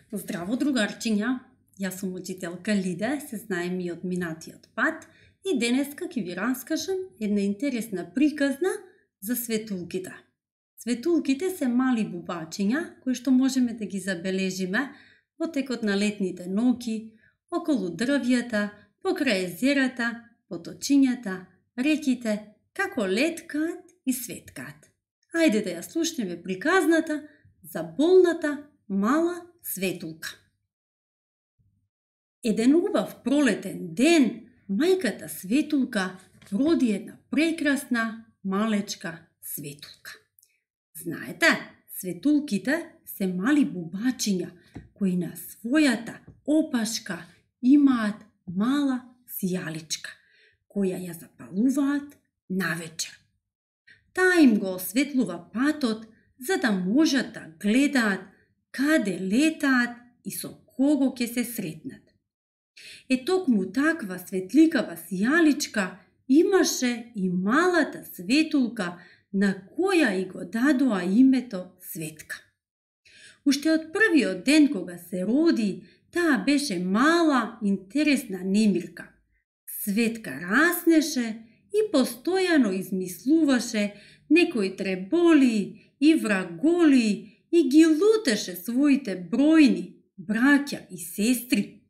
Здраво, другарчиња! Јас сум учителка Лида, се знаем и од минатиот пат и денеска ќе ви раскажам една интересна приказна за светулките. Светулките се мали бубачиња кои што можеме да ги забележиме во текот на летните ноќи, околу дрвјата, покрај езерата, поточињата, реките, како леткаат и светкаат. Ајде да ја слушнеме приказната за болната мала светулка. Еден убав пролетен ден, мајката светулка роди една прекрасна малечка светулка. Знаете, светулките се мали бубачиња кои на својата опашка имаат мала сијаличка, која ја запалуваат навечер. Таа им го осветлува патот за да можат да гледаат каде летаат и со кого ќе се сретнат. Токму таква светликава сијаличка имаше и малата светулка на која и го дадоа името Светка. Уште од првиот ден кога се роди, таа беше мала, интересна немирка. Светка раснеше и постојано измислуваше некои треболи и враголи и ги лутеше своите бројни браќа и сестри.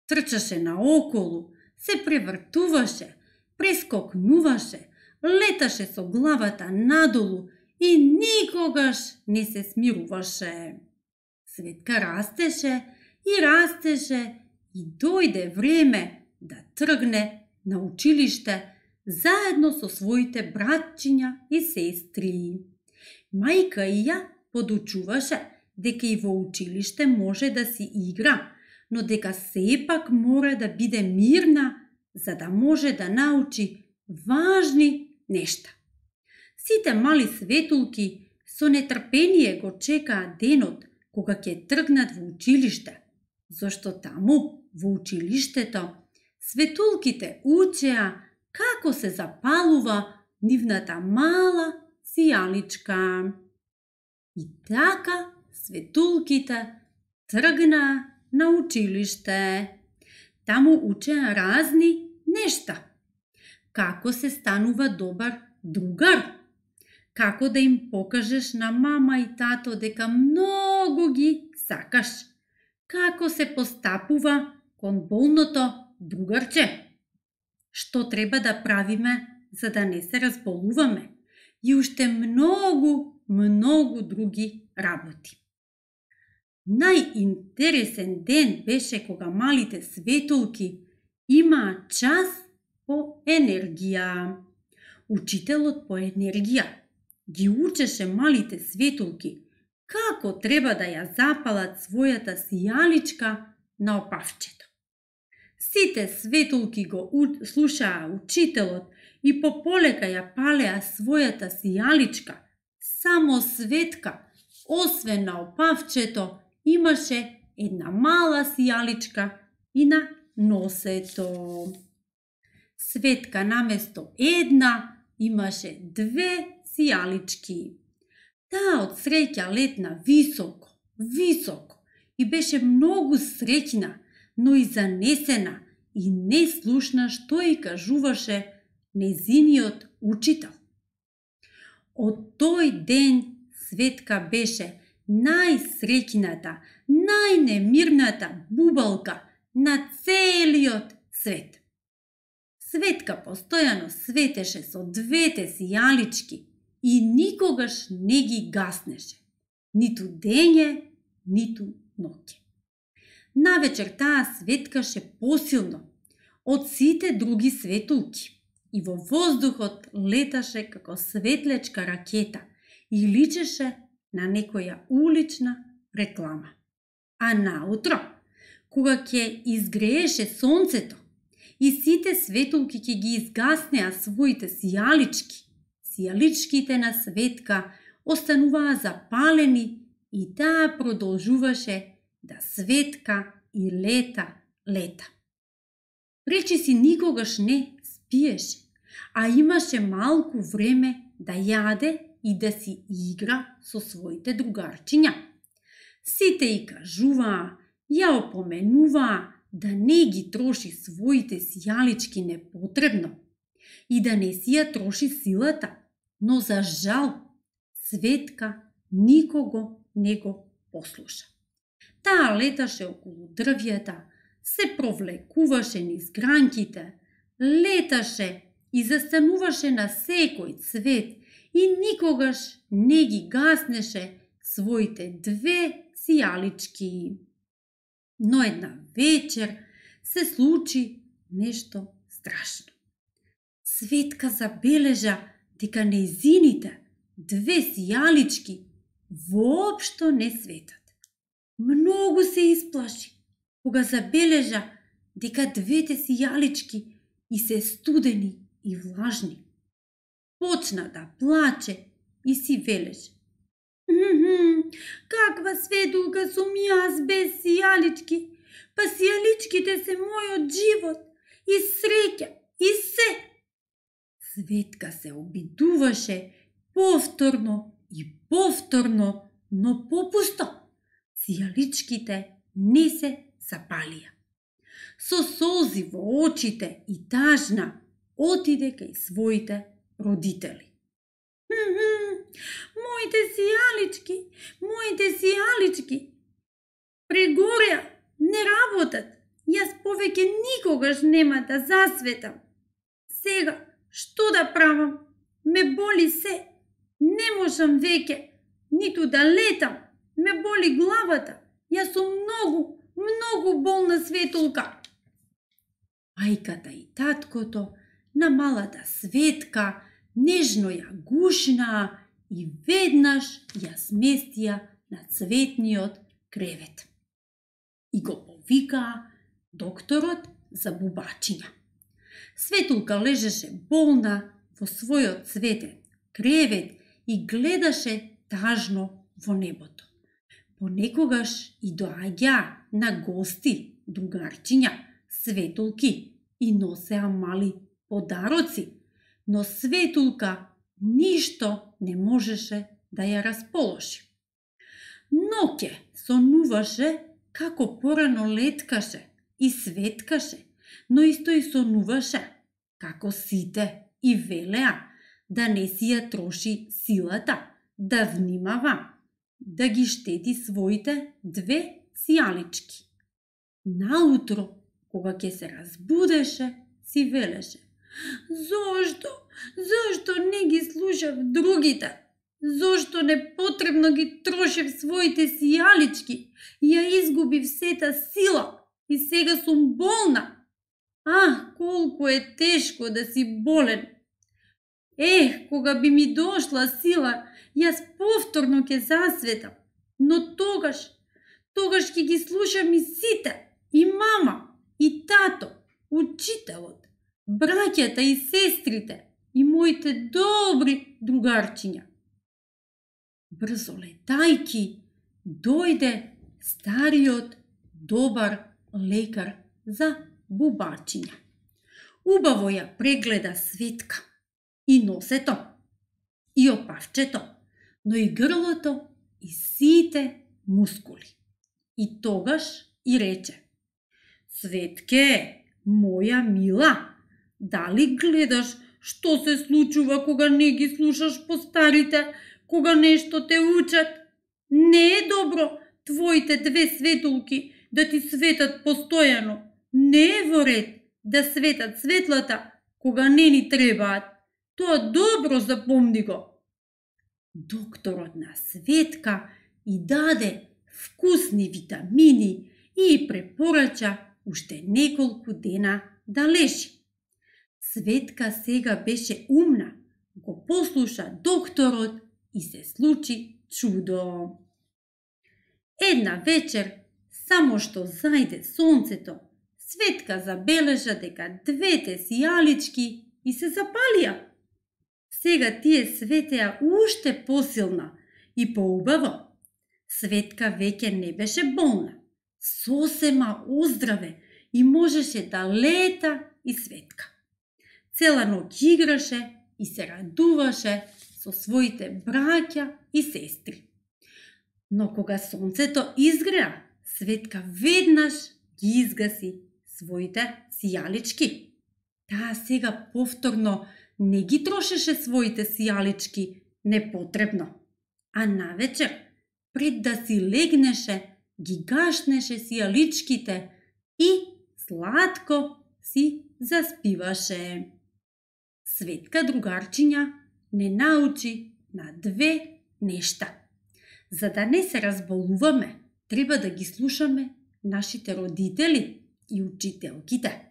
Трчаше наоколу, се превртуваше, прескокнуваше, леташе со главата надолу и никогаш не се смируваше. Светка растеше и дојде време да тргне на училиште заедно со своите братчиња и сестри. Мајка ја подучуваше дека и во училиште може да си игра, но дека сепак мора да биде мирна за да може да научи важни нешта. Сите мали светулки со нетрпение го чекаат денот кога ќе тргнат во училиште, зашто таму во училиштето светулките учеа како се запалува нивната мала сијаличка. И така светулките тргнаа на училиште. Таму учеа разни нешта. Како се станува добар другар, како да им покажеш на мама и тато дека многу ги сакаш, како се постапува кон болното другарче, што треба да правиме за да не се разболуваме и уште многу други работи. Најинтересен ден беше кога малите светулки имаа час по енергија. Учителот по енергија ги учеше малите светулки како треба да ја запалат својата сијаличка на опавчето. Сите светулки го слушаа учителот и пополека ја палеа својата сијаличка. Само Светка, освен на опавчето, имаше една мала сијаличка и на носето. Светка наместо една имаше две сијалички. Таа од среќа летна високо и беше многу среќна, но и занесена и не слушна што и кажуваше незиниот учител. Од тој ден Светка беше најсреќната, најнемирната бубалка на целиот свет. Светка постојано светеше со двете сијалички и никогаш не ги гаснеше, ниту дење, ниту ноќе. Навечер таа светкаше посилно од сите други светулки и во воздухот леташе како светлечка ракета и личеше на некоја улична реклама. А наутро, кога ќе изгрееше сонцето и сите светулки ќе ги изгаснеа своите сијалички, сијаличките на Светка остануваа запалени и таа продолжуваше да светка и лета. Речиси никогаш не спиеше, а имаше малку време да јаде и да си игра со своите другарчиња. Сите и кажуваа, ја опоменуваа да не ги троши своите сијалички непотребно и да не си ја троши силата, но за жал Светка никого не го послуша. Таа леташе околу дрвјата, се провлекуваше низ гранките, леташе и застануваше на секој цвет и никогаш не ги гаснеше своите две сијалички. Но една вечер се случи нешто страшно. Светка забележа дека нејзините две сијалички воопшто не светат. Многу се исплаши кога забележа дека двете сијалички и се студени и влажни. Почна да плаче и си велеше: каква светулка сум јас без сијалички, па сијаличките се мојот живот и среќа и се. Светка се обидуваше повторно и повторно, но попусто. Сијаличките не се запалија. Со солзи во очите и тажна отиде кај своите родители. Моите сијалички прегореа, не работат. Јас повеќе никогаш нема да засветам. Сега, што да правам? Ме боли се. Не можам веќе ниту да летам. Ме боли главата. Јас сум многу болна светулка. Мајката и таткото на малата Светка нежно ја гушнаа и веднаш ја сместија на цветниот кревет. И го повикаа докторот за бубачиња. Светулка лежеше болна во својот цветен кревет и гледаше тажно во небото. Понекогаш и доаѓаа на гости другарчиња, светулки и носеа мали подароци, но Светулка ништо не можеше да ја расположи. Ноќе сонуваше како порано леткаше и светкаше, но исто и сонуваше како сите и велеа да не си ја троши силата, да внимава, да ги штети своите две сијалички. Наутро, кога ќе се разбудеше, си велеше: Зошто не ги слушав другите? Зошто непотребно ги трошев своите сијалички и ја изгубив сета сила и сега сум болна? Колку е тешко да си болен! Кога би ми дошла сила, јас повторно ќе засветам, но тогаш ќе ги слушам и сите, и мама, и тато, учителот, браќата и сестрите и моите добри другарчиња. Брзо летајки, дојде стариот добар лекар за бубачиња. Убаво ја прегледа Светка, и носето, и опавчето, но и грлото, и сите мускули. И тогаш и рече: Светке, моја мила, дали гледаш што се случува кога не ги слушаш постарите, кога нешто те учат? Не е добро твоите две светулки да ти светат постојано. Не е во ред да светат светлата кога не ни требаат. Тоа добро запомни го. Докторот на Светка и даде вкусни витамини и препорача уште неколку дена да лежи. Светка сега беше умна, го послуша докторот и се случи чудо. Една вечер, само што зајде сонцето, Светка забележа дека двете сијалички и се запалија. Сега тие светеа уште посилна и поубаво. Светка веќе не беше болна, сосема оздраве и можеше да лета и светка. Цела ноќ играше и се радуваше со своите браќа и сестри. Но кога сонцето изгреа, Светка веднаш ги изгаси своите сијалички. Таа сега повторно не ги трошеше своите сијалички непотребно, а навечер, пред да си легнеше, ги гашнеше сијаличките и сладко си заспиваше. Светка другарчиња не научи на две нешта. За да не се разболуваме, треба да ги слушаме нашите родители и учителките.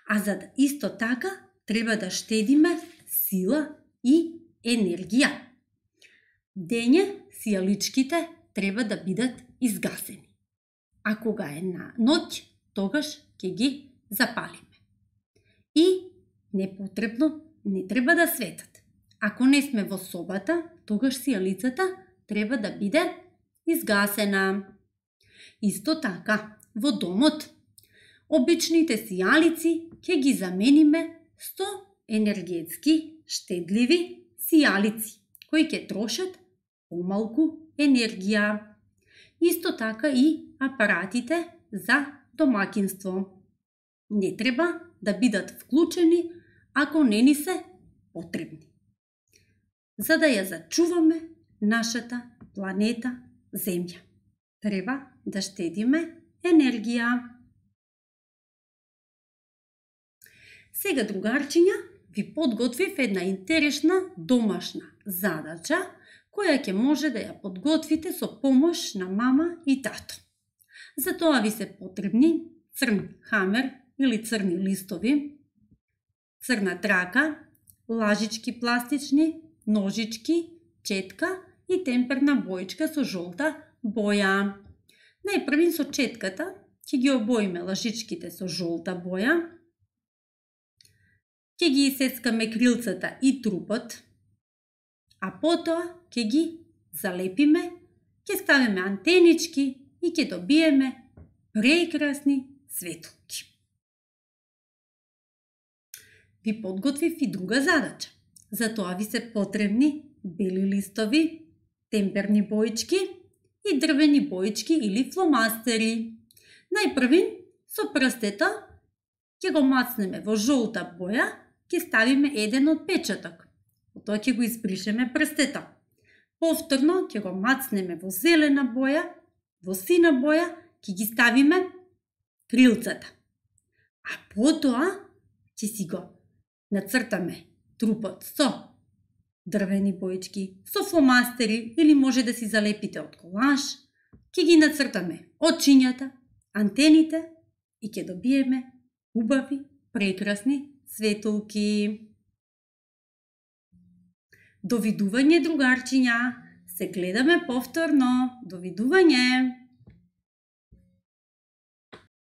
А за да исто така, треба да штедиме сила и енергија. Дење сијаличките треба да бидат изгасени. А кога е на ноќ, тогаш ќе ги запалиме. И непотребно не треба да светат. Ако не сме во собата, тогаш сијалицата треба да биде изгасена. Исто така, во домот, обичните сијалици ќе ги замениме со енергетски штедливи сијалици, кои ќе трошат помалку енергија. Исто така и апаратите за домакинство. Не треба да бидат вклучени ако не ни се потребни. За да ја зачуваме нашата планета Земја, треба да штедиме енергија. Сега, другарчиња, ви подготвив една интересна домашна задача, која ќе може да ја подготвите со помош на мама и тато. За тоа ви се потребни црн хамер или црни листови, црна трака, лажички пластични, ножички, четка и темперна боичка со жолта боја. Најпрвин со четката ќе ги обоиме лажичките со жолта боја, ќе ги исецкаме крилцата и трупот, а потоа ќе ги залепиме, ќе ставиме антенички и ќе добиеме прекрасни светулки. Ви подготвив и друга задача. За тоа ви се потребни бели листови, темперни боички и дрвени боички или фломастери. Најпрвин со прстето ќе го мацнеме во жолта боја, ќе ставиме еден отпечаток. Потоа ќе го избришеме прстето. Повторно ќе го мацнеме во зелена боја, во сина боја, ќе ги ставиме крилцата. А потоа ќе си го нацртаме трупот со дрвени боички, со фломастери или може да си залепите од колаж, ќе ги нацртаме очињата, антените и ќе добиеме убави, прекрасни светулки. Довидување, другарчиња, се гледаме повторно. Довидување!